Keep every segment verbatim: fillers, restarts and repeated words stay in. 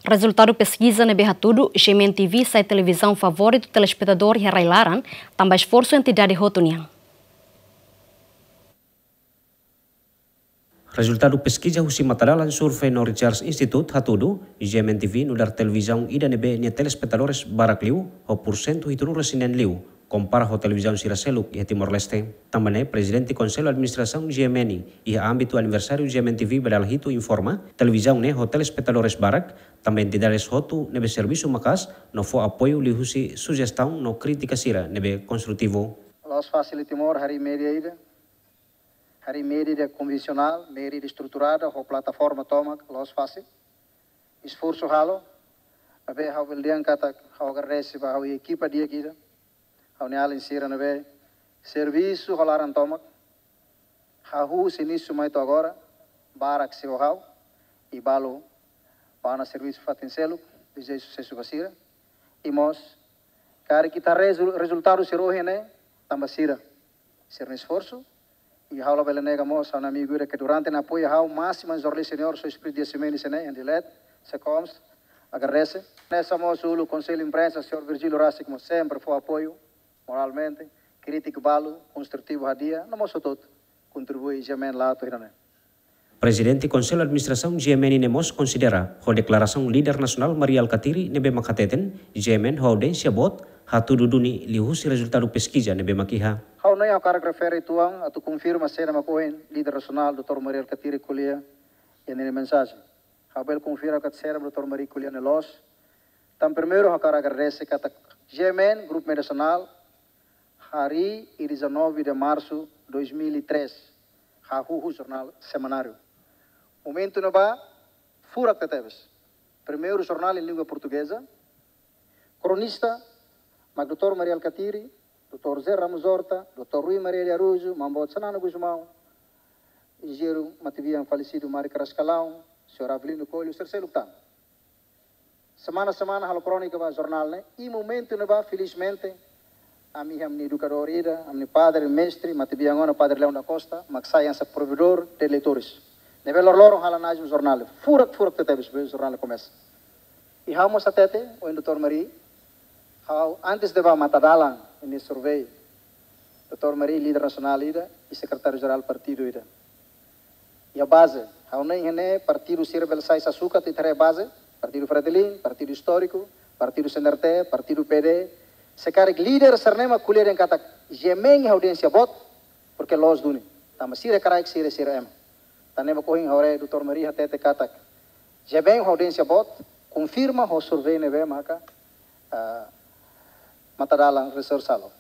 Rezultadu peskiza ne'ebé hatudu GMN TV sai televizaun favoritu telespetadór iha rai-laran, tanba esforsu entidade hotu nian. Rezultadu peskiza husi Matadalan Survey no Research Institute hatudu, GMN TV nu'udar televizaun ida ne'ebé nia telespetadores barak liu, ho porsentu hitunulu resin neen liu, kompara ho televizaun sira seluk iha Timor-Leste. Tanba ne'e, Prezidente Konsellu Administrasaun GMN, iha ámbitu aniversáriu GMN TV ba dala hitu informa, televizaun ne'e ho telespetadores barak, tanba entidades hotu ne'ebé servisu maka'as, no fó apoiu liuhusi sujestaun no krítika sira ne'ebé konstrutivu. Loos fase iha Timor, harii média ida. Harii média ida konvensionál, média ida estruturada, ho plataforma tomak, loos fase. Esforsu halo, maibé ha'u bele dehan katak ha'u agradese ba ha'u-nia ekipa di'ak ida. Ha'u-nia alin sira ne'ebé servisu ho laran tomak. Hahú husi inísiu mai to'o agora, barak sei ho ha'u, i balu bá ona servisu fatin seluk, dezeja susesu ba sira. I mós, karik ita rezu-, rezultadu sira ohin ne'e, tanba sira. Sira-nia esforsu, i ha'u la bele nega mós ha'u-nia amigu ida ke durante ne'e apoia ha'u, másimu jornalista senior, señór Espírito Dias Ximenes ne'e, iha Dili, SECOMS, agradese. Hanesan mós uluk Konsellu Imprensa, señór Virgílio rasik mós sempre fó apoiu, moralmente, krítika balu, konstrutivu hadi'a, no mós hotu-hotu kontribui GMN la'o to'o ohin ne'e. Prezidente Konsellu Administrasaun GMN ne'e mós konsidera, ho deklarasaun líder nasionál Mari Alkatiri ne'ebé mak hateten, GMN ho audiénsia boot, hatudu duni liuhusi rezultadu peskiza ne'ebé mak iha. Ha'u-nia hakarak refere tuan, atu konfirma saida mak ohin líder nasionál, doutór Mari Alkatiri ko'alia, iha ninia mensajen. Ha'u bele konfirma katak saida mak doutór Mari ko'alia ne'e loos. Tan primeiru, ha'u hakarak agradese katak GMN, Grupu Média Nasionál, harii iha dezanove de março dois mil e três, hahú ho jornál semanáriu. Momentu ne'ebá, furak tebetebes. Primeiru jornál em língua portuguesa, kronista, mak doutór Mari Alkatiri, doutór José Ramos Horta, doutór Rui Maria de Araújo, Maun Boot Xanana Gusmão, enjeñeiru matebian falesidu Mari Carrascalão, señór Avelino Coelho, sira seluk tan. Semana-semana halo krónika ba jornál ne'e, i momentu ne'ebá, felizmente, ami iha ami-nia edukadór ida, ami-nia padre, mestre, matebian ona, Padre Leão da Costa, mak sai hanesan provedór de leitores. Ne'ebé loroloron halo análise jornál, furak, furak tebetebes, be jornál komesa. I ha'u mós hatete, ohin doutór Mari, ha'u antes de bá Matadalan, iha nia survey, doutór Mari líder nasionál ida, i sekretáriu jerál partidu ida. Iha baze, ha'u hanoin iha ne'e partidu sira bele sai sasukat ita haree baze, Partidu Fretilin, partidu istóriku, partidu CNRT, partidu PD. Se karik líder sira-ne'e mak ko'alia dehan katak GMN iha audiénsia boot, porke loos duni. Tanba sira hakarak sira, sira ema. Tan ne'e mak ohin ha'u haree doutór Mari hatete katak GMN iha audiénsia boot, konfirma ho survey ne'ebé maka, ah, Matadalan Research halo.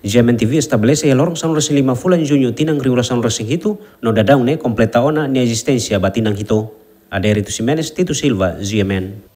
GMN TV estabelese iha loron sanulu-resin-lima fulan Juñu tinan rihun rua sanulu-resin-hitu, no daudaun ne'e kompleta ona nia ezisténsia ba tinan hitu. Adérito Ximenes, Tito Silva, GMN.